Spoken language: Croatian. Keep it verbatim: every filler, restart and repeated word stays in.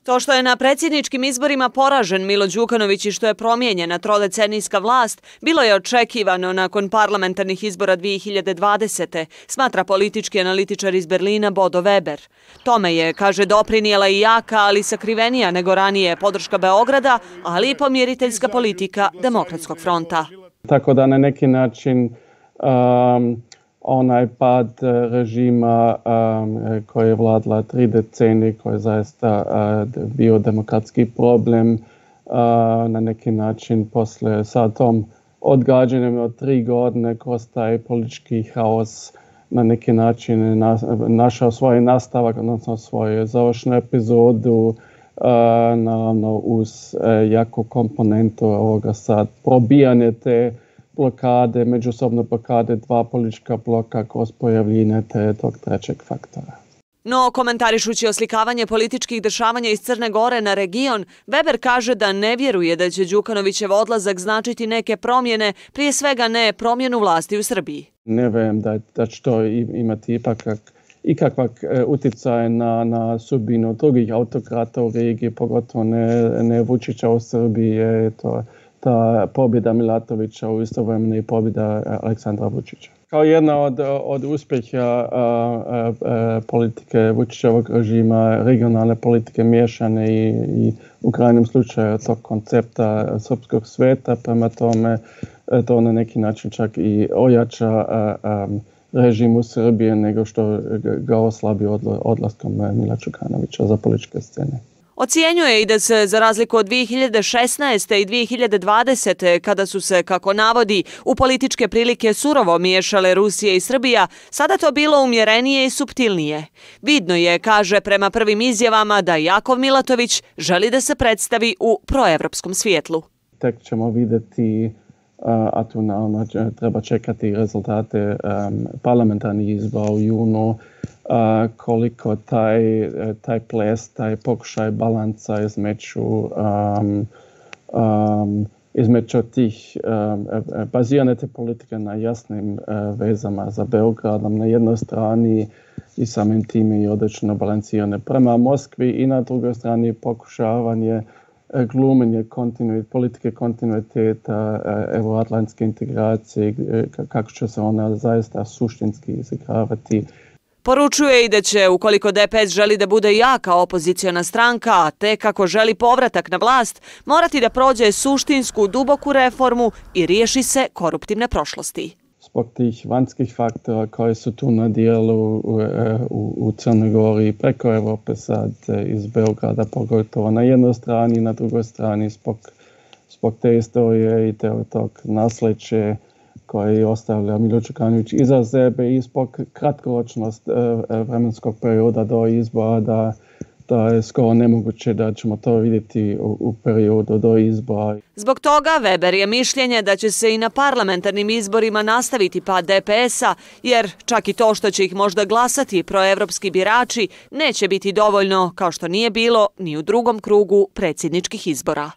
To što je na predsjedničkim izborima poražen Milo Đukanović i što je promijenjena trodecenijska vlast, bilo je očekivano nakon parlamentarnih izbora dvije hiljade dvadesete, smatra politički analitičar iz Berlina Bodo Weber. Tome je, kaže, doprinijela i jaka, ali sakrivenija nego ranije podrška Beograda, ali i pomiriteljska politika Demokratskog fronta. Tako da na neki način um, onaj pad režima um, koji je vladala tri decenije, koji je zaista uh, bio demokratski problem, uh, na neki način posle sa tom odgađanjem od tri godine kroz taj politički haos na neki način na, našao svoj nastavak, odnosno svoju završnu epizodu, uh, naravno uz uh, jaku komponentu ovoga sad probijanje te blokade, međusobno blokade dva politička bloka kroz pojavljine te tog trećeg faktora. No, komentarišući oslikavanje političkih dešavanja iz Crne Gore na region, Weber kaže da ne vjeruje da će Đukanovićev odlazak značiti neke promjene, prije svega ne promjenu vlasti u Srbiji. Ne vjerujem da, da će to imati ipak ikakvak utjecaj na, na sudbinu drugih autokrata u regiji, pogotovo ne, ne Vučića u Srbiji, je to ta pobjeda Milatovića u istovremeno i pobjeda Aleksandra Vučića. Kao jedna od, od uspjeha a, a, a, politike Vučićevog režima, regionalne politike miješane i, i u krajnjem slučaju tog koncepta srpskog sveta, prema tome to na neki način čak i ojača a, a, režim u Srbije nego što ga oslabi odlaskom Mila Đukanovića za političke scene. Ocjenjuje i da se, za razliku od dvije hiljade šesnaeste. i dvije hiljade dvadesete. kada su se, kako navodi, u političke prilike surovo miješale Rusija i Srbija, sada to bilo umjerenije i suptilnije. Vidno je, kaže, prema prvim izjavama da Jakov Milatović želi da se predstavi u proevropskom svijetlu. Tek ćemo vidjeti, a tu naravno treba čekati rezultate um, parlamentarnih izbora u junu, Uh, koliko taj, taj ples, taj pokušaj balansa između, um, um, između tih um, bazirane te politike na jasnim uh, vezama za Beogradom na jednoj strani i samim time i odlično balansirane prema Moskvi i na drugoj strani pokušavanje uh, glumenje kontinuit, politike kontinuiteta, uh, euroatlantske integracije, uh, kako će se ona zaista suštinski izigravati. Poručuje i da će, ukoliko D P S želi da bude jaka opoziciona stranka, a te kako želi povratak na vlast, morati da prođe suštinsku, duboku reformu i riješi se koruptivne prošlosti. Zbog tih vanjskih faktora koji su tu na dijelu u, u, u Crnoj Gori preko Evrope sad iz Beograda, pogotovo na jednoj strani, na drugoj strani zbog, zbog te istorije i te tog nasljeđa koji ostavlja Milo Đukanović iza sebe i zbog kratkoročnost vremenskog perioda do izbora, da, da je skoro nemoguće da ćemo to vidjeti u, u periodu do izbora. Zbog toga Weber je mišljenje da će se i na parlamentarnim izborima nastaviti pad D P S-a, jer čak i to što će ih možda glasati proevropski birači neće biti dovoljno, kao što nije bilo ni u drugom krugu predsjedničkih izbora.